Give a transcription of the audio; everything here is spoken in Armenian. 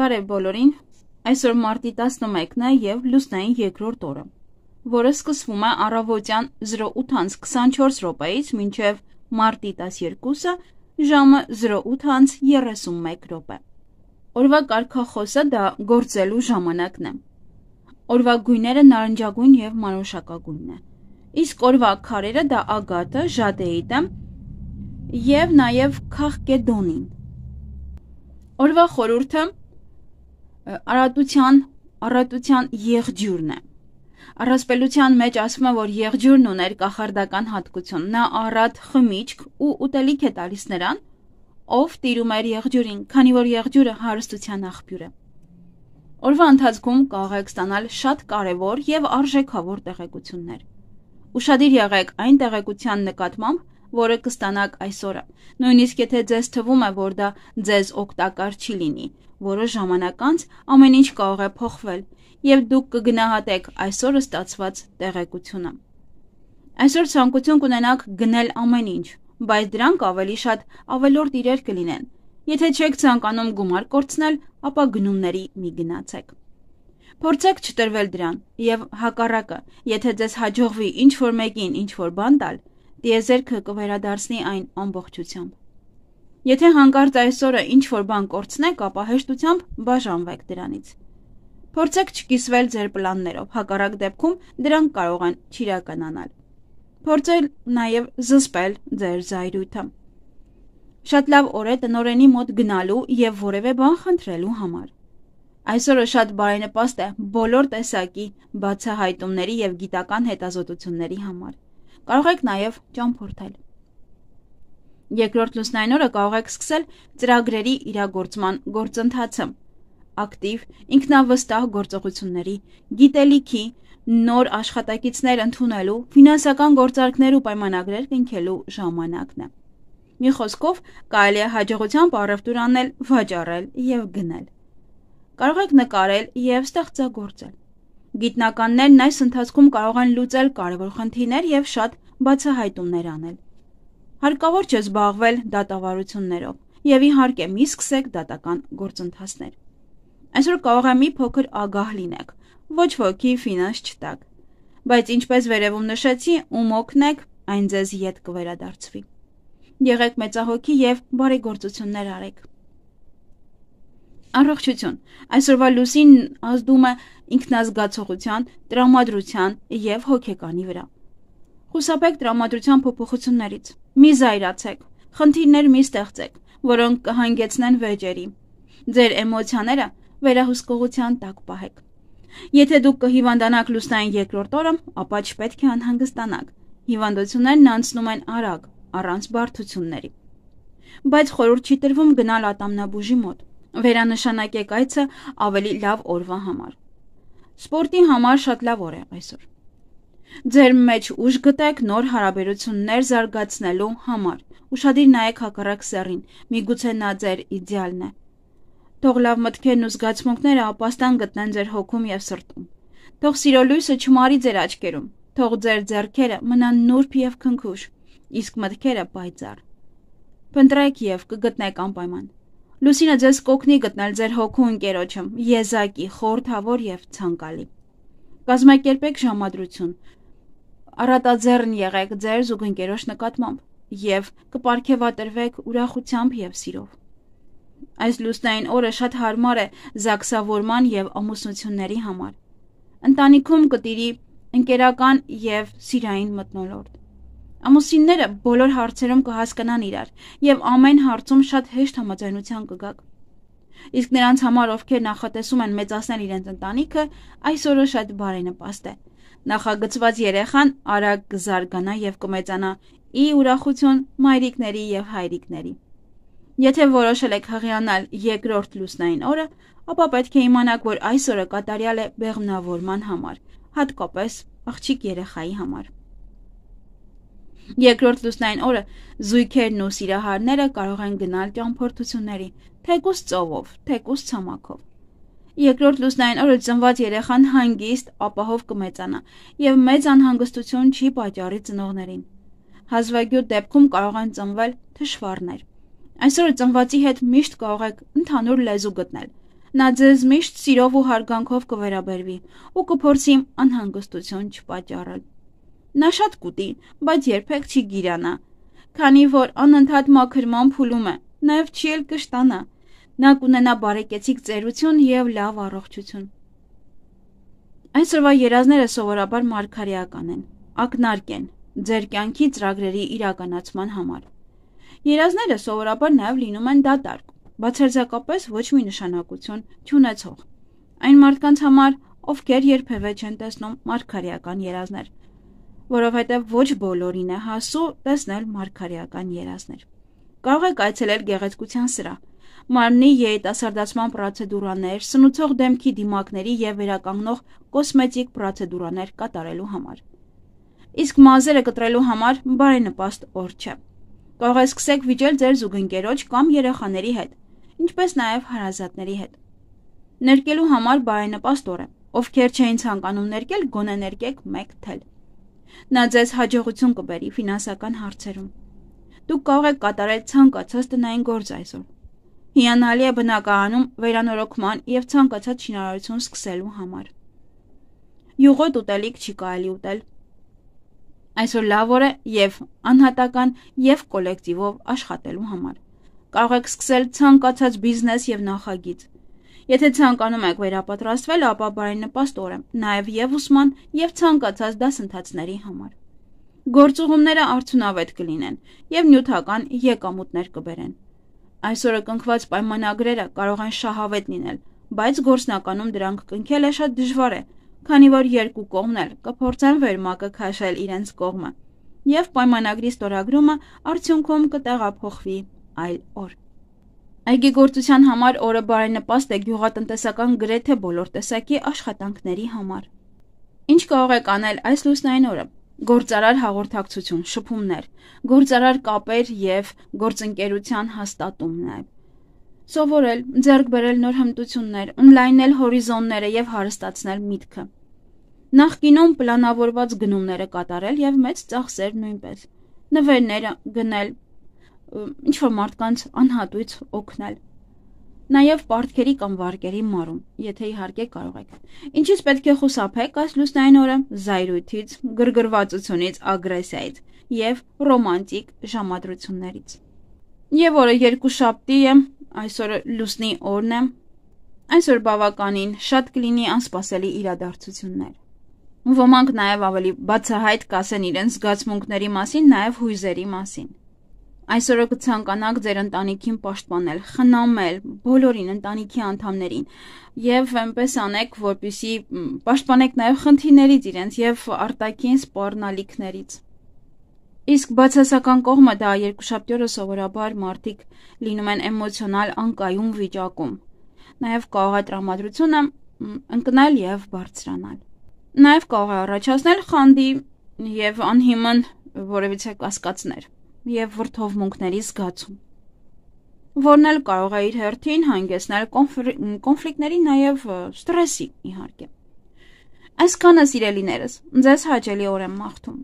Բարև բոլորին, այսօր մարտի 11-ն է և լուսնային երկրորդ օրը, որը սկսվում է առավոտյան 08:24 րոպեից մինչև մարտի 12-ը ժամը 08:31 րոպե։ Օրվա կարգախոսը դա գործելու ժամանակն է։ Օրվա գույները նարնջագույն և մանուշակագույնն է, իսկ օրվա քարերը դա ագաթը, ժադեիտը և նաև քաղկեդոնին։ Օրվա խորհուրդը առատության եղջյուրն է։ Առասպելության մեջ ասվում է, որ եղջյուրն ուներ կախարդական հատկություն, նա առատ խմիչք ու ուտելիք է տալիս նրան, ով տիրում էր եղջյուրին, քանի որ եղջյուրը հարստության աղբյուր է։ Օրվա ընթացքում կարող եք ստանալ շատ կարևոր և արժեքավոր տեղեկություններ։ Ուշադիր եղեք այն տեղեկության նկատմամբ, որը կստանաք այսօրը, նույնիսկ եթե ձեզ թվում է, որ դա ձեզ օգտակար չի լինի, որոշ ժամանակ անց ամեն ինչ կարող է փոխվել, և դուք կգնահատեք այսօրը ստացված տեղեկությունը։ Այսօր ցանկություն կունենաք գնել ամեն ինչ, բայց դրանք ավելի շատ ավելորդ իրեր կլինեն։ Եթե չեք ցանկանում գումար կորցնել, ապա գնումների մի գնացեք։ Փորձեք չտրվել դրան, և հակառակը, եթե ձեզ հաջողվի ինչ-որ մեկին ինչ-որ բան տալ, տիեզերքը կվերադարձնի այն ամբողջությամբ։ Եթե հանկարծ այսօրը ինչ-որ բան կորցնեք, ապա հեշտությամբ բաժանվեք դրանից։ Փորձեք չկիսվել ձեր պլաններով, հակառակ դեպքում դրանք կարող են չիրականանալ։ Փորձեք նաև զսպել ձեր զայրույթը։ Շատ լավ օր է տնօրենի մոտ գնալու և որևէ բան խնդրելու համար։ Այսօրը շատ բարենպաստ է բոլոր տեսակի բացահայտումների և գիտական հետազոտությունների համար։ Կարող եք նաև ճամփորդել։ Երկրորդ լուսնային օրը կարող եք սկսել ծրագրերի իրագործման գործընթացը, ակտիվ, ինքնավստահ գործողությունների, գիտելիքի, նոր աշխատակիցներ ընդունելու, ֆինանսական գործարքներ ու պայմանագրեր կնքելու ժամանակն է։ Մի խոսքով, կարելի է հաջողությամբ առևտուր անել, վաճառել և գնել։ Կարող եք նկարել և ստեղծագործել։ Գիտնականներն այս ընթացքում կարող են լուծել կարևոր խնդիրներ և շատ բացահայտումներ անել։ Հարկավոր չէ զբաղվել դատավարություններով, և իհարկե մի սկսեք դատական գործընթացներ։ Այսօր կարող է մի փոքր ագահ լինեք, ոչ ոքի ֆինանս չտաք, բայց ինչպես վերևում նշեցի, ում օգնեք, այն ձեզ ետ կվերադարձվի։ Եղեք մեծահոգի և բարեգործություններ արեք։ Առողջություն։ Այսօրվա լուսինն ազդում է ինքնազգացողության, տրամադրության և հոգեկանի վրա։ Խուսափեք տրամադրության փոփոխություններից։ Մի զայրացեք, խնդիրներ մի ստեղծեք, որոնք կհանգեցնեն վեճերի։ Ձեր էմոցիաները վերահսկողության տակ պահեք։ Եթե դուք կհիվանդանաք լուսնային երկրորդ օրը, ապա չպետք է անհանգստանաք։ Հիվանդություններն անցնում են արագ, առանց բարդությունների։ Բայց խորհուրդ չի տրվում գնալ ատամնաբուժի մոտ։ Վերանշանակեք այցը ավելի լավ օրվա համար։ Սպորտի համար շատ լավ օր է այսօր։ Ձեր մեջ ուժ գտեք նոր հարաբերություններ զարգացնելու համար։ Ուշադիր նայեք հակառակ սեռին, միգուցե նա ձեր իդեալն է։ Թող լավ մտքերն ու զգացմունքները ապաստան գտնեն ձեր հոգում և սրտում։ Թող սիրո լույսը չմարի ձեր աչքերում։ Թող ձեր ձեռքերը մնան նուրբ և քնքուշ, իսկ մտքերը պայծառ։ Փնտրեք և կգտնեք անպայման։ Լուսինը ձեզ կօգնի գտնել ձեր հոգու ընկերոջը, եզակի, խորհրդավոր և ցանկալի։ Կազմակերպեք ժամադրություն։ Առատաձեռն եղեք ձեր զուգընկերոջ նկատմամբ և կպարգևատրվեք ուրախությամբ և սիրով։ Այս լուսնային օրը շատ հարմար է զաքսավորման և ամուսնությունների համար։ Ընտանիքում կտիրի ընկերական և սիրային մթնոլորտ։ Ամուսինները բոլոր հարցերում կհասկանան իրար և ամեն հարցում շատ հեշտ համաձայնության կգաք։ Իսկ նրանց համար, ովքեր նախատեսում են մեծացնել իրենց ընտանիքը, այս օրը շատ բարենպաստ է։ Նախագծված երեխան արագ կզարգանա և կմեծանա ի ուրախություն մայրիկների և հայրիկների։ Եթե որոշել եք հղիանալ երկրորդ լուսնային օրը, ապա պետք է իմանաք, որ այս օրը կատարյալ է բեղմնավորման համար, հատկապես աղջիկ երեխայի համար։ Երկրորդ լուսնային օրը զույգերն ու սիրահարները կարող են գնալ ճամփորդությունների, թեկուզ ծովով, թեկուզ ցամաքով։ Երկրորդ լուսնային օրը ծնված երեխան հանգիստ, ապահով կմեծանա և մեծ անհանգստություն չի պատճառի ծնողներին։ Հազվագյուտ դեպքում կարող են ծնվել թշվառներ։ Այսօր ծնվածի հետ միշտ կարող եք ընդհանուր լեզու գտնել, Նա ձեզ միշտ սիրով ու հարգանքով կվերաբերվի ու կփորձի անհանգստություն չպատճառել։ Նա շատ կուտի, բայց երբեք չի գիրանա, քանի որ անընդհատ մաքրման փուլում է, նաև չի էլ կշտանա։ Նա կունենա բարեկեցիկ ծերություն և լավ առողջություն։ Այսօրվա երազները սովորաբար մարգարեական են, ակնարկ են ձեր կյանքի ծրագրերի իրականացման համար։ Երազները սովորաբար նաև լինում են դատարկ, բացարձակապես ոչ մի նշանակություն չունեցող։ Այն մարդկանց համար, ովքեր երբևէ չեն տեսնում մարգարեական երազներ, որովհետև ոչ բոլորին է հասու տեսնել մարգարեական երազներ։ Կարող եք այցելել գեղեցկության սրահ, մարմնի երիտասարդացման պրոցեդուրաներ, սնուցող դեմքի դիմակների և վերականգնող կոսմետիկ պրոցեդուրաներ կատարելու համար։ Իսկ մազերը կտրելու համար բարենպաստ օր չէ։ Կարող եք սկսեք վիճել ձեր զուգընկերոջ կամ երեխաների հետ, ինչպես նաև հարազատների հետ։ Ներկելու համար բարենպաստ օր է, ովքեր չէին ցանկանում ներկել, գոնե ներկեք մեկ թել։ Նա ձեզ հաջողություն կբերի ֆինանսական հարցերում։ Դուք կարող եք կատարել ցանկացած տնային գործ այսօր։ Հիանալի է բնակարանում վերանորոգման և ցանկացած շինարարություն սկսելու համար։ Յուղոտ ուտելիք չի կարելի ուտել։ Այսօր լավ օր է և անհատական և կոլեկտիվով աշխատելու համար։ Կարող եք սկսել ցանկացած բիզնես և նախագիծ։ Եթե ցանկանում եք վերապատրաստվել, ապա բարենպաստ օր է նաև և ուսման և ցանկացած դասընթացների համար։ Գործուղումները արդյունավետ կլինեն և նյութական եկամուտներ կբերեն։ Այսօրը կնքված պայմանագրերը կարող են շահավետ լինել, բայց գործնականում դրանք կնքելը շատ դժվար է, քանի որ երկու կողմն էլ կփորձեն վերմակը քաշել իրենց կողմը, և պայմանագրի ստորագրումը արդյունքում կտեղափոխվի այլ օր։ Այգեգործության համար օրը բարենպաստ է գյուղատնտեսական գրեթե բոլոր տեսակի աշխատանքների համար։ Ինչ կարող եք անել այս լուսնային օրը։ Գործարար հաղորդակցություն, շփումներ, գործարար կապեր և գործընկերության հաստատում նաև։ Սովորել, ձեռք բերել նոր հմտություններ, ընդլայնել հորիզոնները և հարստացնել միտքը։ Նախկինում պլանավորված գնումները կատարել և մեծ ծախսեր նույնպես։ Նվերները գնել, ինչ-որ մարդկանց անհատույց օգնել։ Նաև պարտքերի կամ վարկերի մարում, եթե իհարկե կարող եք։ Ինչից պետք է խուսափեք այս լուսնային օրը՝ զայրույթից, գրգռվածությունից, ագրեսիայից և ռոմանտիկ ժամադրություններից։ Եվ օրը երկուշաբթի է, այսօրը լուսնի օրն է։ Այսօր բավականին շատ կլինի անսպասելի իրադարձություններ։ Ոմանք նաև ավելի բացահայտ կասեն իրենց զգացմունքների մասին, նաև հույզերի մասին։ Այսօրը կցանկանաք ձեր ընտանիքին պաշտպանել, խնամել բոլորին ընտանիքի անդամներին և այնպես անեք, որպեսզի պաշտպանեք նաև խնդիրներից իրենց և արտաքին սպառնալիքներից։ Իսկ բացասական կողմը դա երկուշաբթի օրը սովորաբար մարդիկ լինում են էմոցիոնալ անկայուն վիճակում։ Նաև կարող է տրամադրությունը ընկնել և բարձրանալ։ Նաև կարող է առաջացնել խանդի և անհիմն որևիցե կասկածներ և վրդովմունքների զգացում, որն էլ կարող է իր հերթին հանգեցնել կոնֆլիկտների, նաև ստրեսի իհարկե։ Այսքանը սիրելիներս, ձեզ հաճելի օր եմ մաղթում։